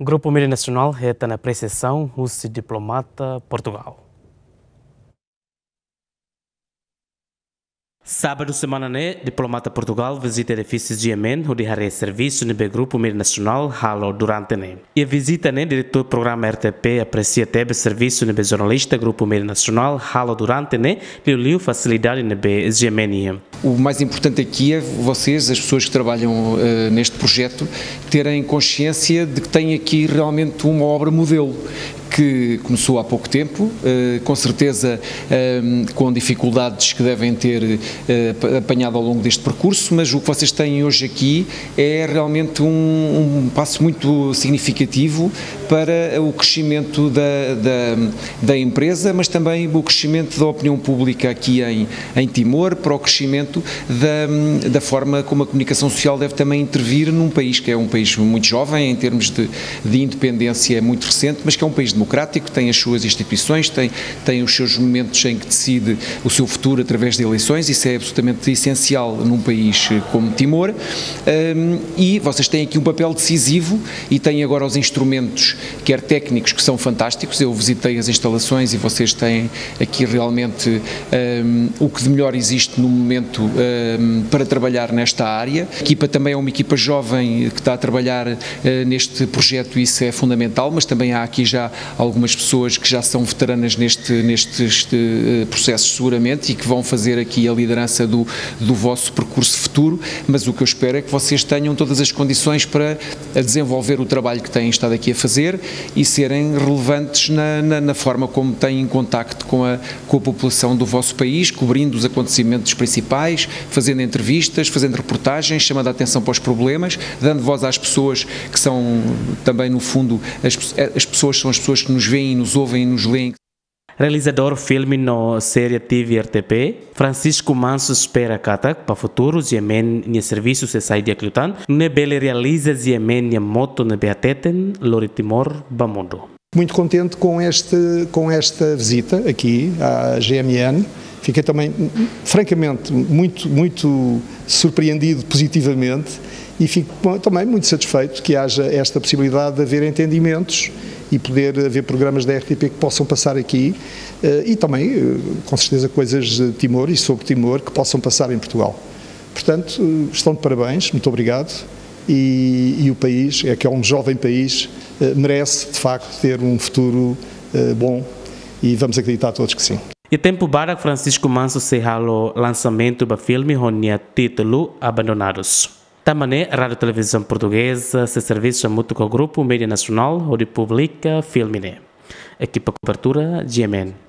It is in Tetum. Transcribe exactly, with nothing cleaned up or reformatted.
Grupu Mídia Nasionál hetan apresiasaun husi diplomata Portugál. Sábadu semana ne'e, diplomata Portugál vizita edifísiu GMN, hodi haree servisu ne'ebé Grupu Mídia Nasionál halo durante ne'e. Iha vizita ne'e, diretór programa RTP apresia tebes servisu ne'ebé jornalista Grupu Mídia Nasionál halo durante ne'e, liuliu fasilidade ne'ebé GMN iha. O mais importante aqui é vocês, as pessoas que trabalham, eh, neste projeto, terem consciência de que têm aqui realmente uma obra modelo que começou há pouco tempo, eh, com certeza, ehm, com dificuldades que devem ter, eh, pa-, apanhado ao longo deste percurso, mas o que vocês têm hoje aqui é realmente um, um passo muito significativo para o crescimento da, da, da empresa, mas também o crescimento da opinião pública aqui em, em Timor, para o crescimento da, da forma como a comunicação social deve também intervir num país que é um país muito jovem em termos de, de independência, é muito recente, mas que é um país democrático, tem as suas instituições, tem, tem os seus momentos em que decide o seu futuro através de eleições. Isso é absolutamente essencial num país, eh, como Timor. Ahm, e vocês têm aqui um papel decisivo e têm agora os instrumentos, quer técnicos, que são fantásticos. Eu visitei as instalações e vocês têm aqui realmente, ahm, o que de melhor existe no momento, ahm, para trabalhar nesta área. A equipa também é uma equipa jovem que está a trabalhar, eh, neste projeto, e isso é fundamental, mas também há aqui já algumas pessoas que já são veteranas neste, nestes, eh, processos, seguramente, e que vão fazer aqui a liderança do, do vosso percurso futuro. Mas o que eu espero é que vocês tenham todas as condições para, eh, desenvolver o trabalho que têm estado aqui a fazer e serem relevantes na, na, na forma como têm contacto com a, com a população do vosso país, cobrindo os acontecimentos principais, fazendo entrevistas, fazendo reportagens, chamando a atenção para os problemas, dando voz às pessoas que são também, no fundo, as pe-, as pessoas são as pessoas que nos veem, nos ouvem e nos leem. Realizadór filme no série TV RTP, Francisco Manso, espera katak ba futuru GMN nia servisu sei sai di'ak liután, nune'e bele realiza GMN nia moto ne'ebé hateten: Lori Timor ba mundu. Muito contente com este, com esta visita aqui à GMN. Fiquei também, francamente, muito, muito surpreendido positivamente e fico também muito satisfeito que haja esta possibilidade de haver entendimentos e poder haver programas da RTP que possam passar aqui, eh, e também, eh, com certeza, coisas de Timor e sobre Timor que possam passar em Portugal. Portanto, eh, estão de parabéns, muito obrigado. E, e o país, é que é um jovem país, eh, merece, de facto, ter um futuro, eh, bom, e vamos acreditar todos que sim. Iha tempu badak Francisco Manso sei halo lansamentu ba filme ho nia títulu Abandonados. Tanba ne'e, Rádiu Televizaun Portugeza sei servisu hamutuk ho Grupu Mídia Nasionál hodi publika filme ne'e. Ekipa kobertura, GMN.